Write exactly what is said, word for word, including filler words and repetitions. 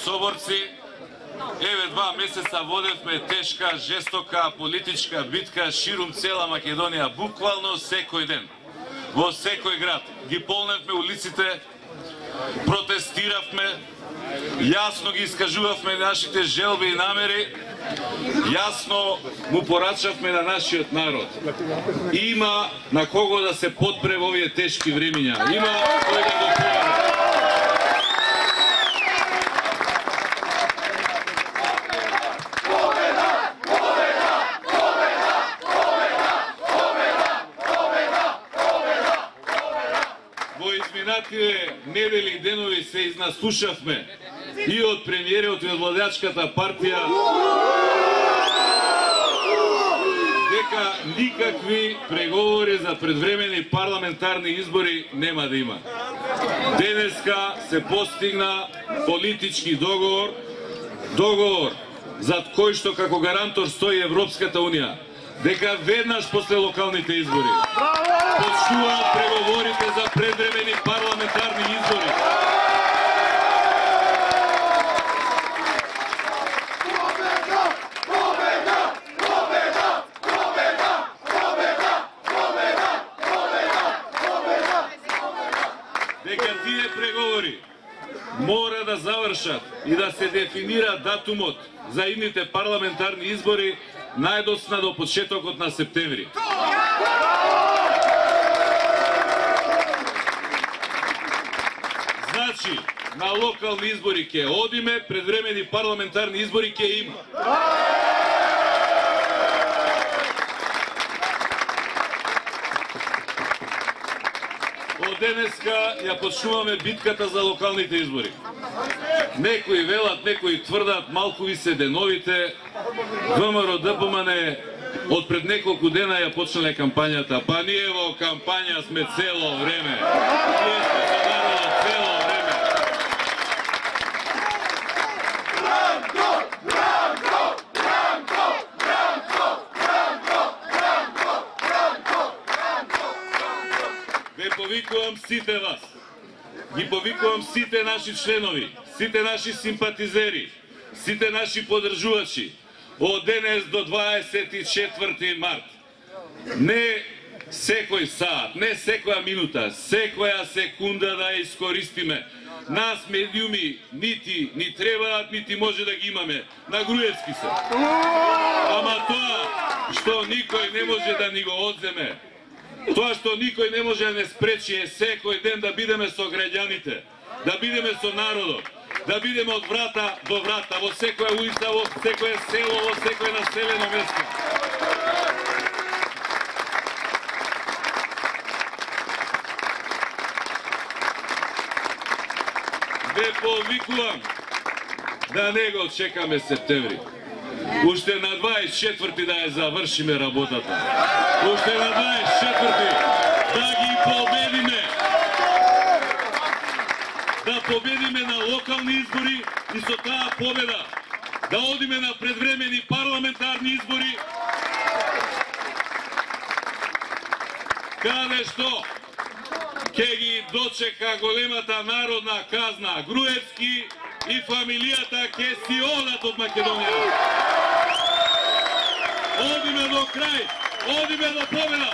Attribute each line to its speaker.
Speaker 1: соборци, еве два месеца водевме тешка, жестока политичка битка ширум цела Македонија, буквално секој ден. Во секој град ги полневме улиците, протестиравме, јасно ги искажувавме нашите желби и намери, јасно му порачавме на нашиот народ. Има на кого да се подпре во овие тешки времиња. Има кој да го помогне. Во изминативе недели и денови се изнаслушавме и од премиерот и од владеачката партија дека никакви преговори за предвремени парламентарни избори нема да има. Денеска се постигна политички договор, договор зад кој што како гарантор стои Европската Унија, дека веднаш после локалните избори почнуваат преговорите за предвремени парламентарни избори. Дека тие преговори мора да завршат и да се дефинира датумот за идните парламентарни избори најдосна до почетокот на септември. Значи, на локални избори ќе одиме, предвремени парламентарни избори ќе има. Од денеска ја почнуваме битката за локалните избори. Некои велат, некои тврдат, малку ви се деновите. ВМРО Д П М Н од пред неколку дена ја почнале кампањата, па ние во кампања сме цело време. Ние сме со народот цело време. Бранко, бранко, бранко, бранко, бранко, бранко, бранко, бранко. Ве повикувам сите вас. Ги повикувам сите наши членови, сите наши симпатизери, сите наши поддржувачи од денес до дваесет и четврти март. Не секој саат, не секоја минута, секоја секунда да ја искористиме. Нас медиуми нити ни требаат, нити може да ги имаме. На Груевски се. Ама тоа што никој не може да ни го одземе, тоа што никој не може да не спречи е секој ден да бидеме со граѓаните, да бидеме со народот, да бидеме од врата до врата, во секоја улица, во секоја село, во секој населено место. Ве повикувам да не го чекаме септември. Уште на дваесет и четврти да ја завршиме работата. Уште на дваесет и четврти да ги победиме. Да победиме на локални избори и со таа победа да одиме на предвремени парламентарни избори, каде што ќе ги дочека големата народна казна. Груевски и фамилијата ќе си одат од Македонија. Одиме до крај, одиме до победа.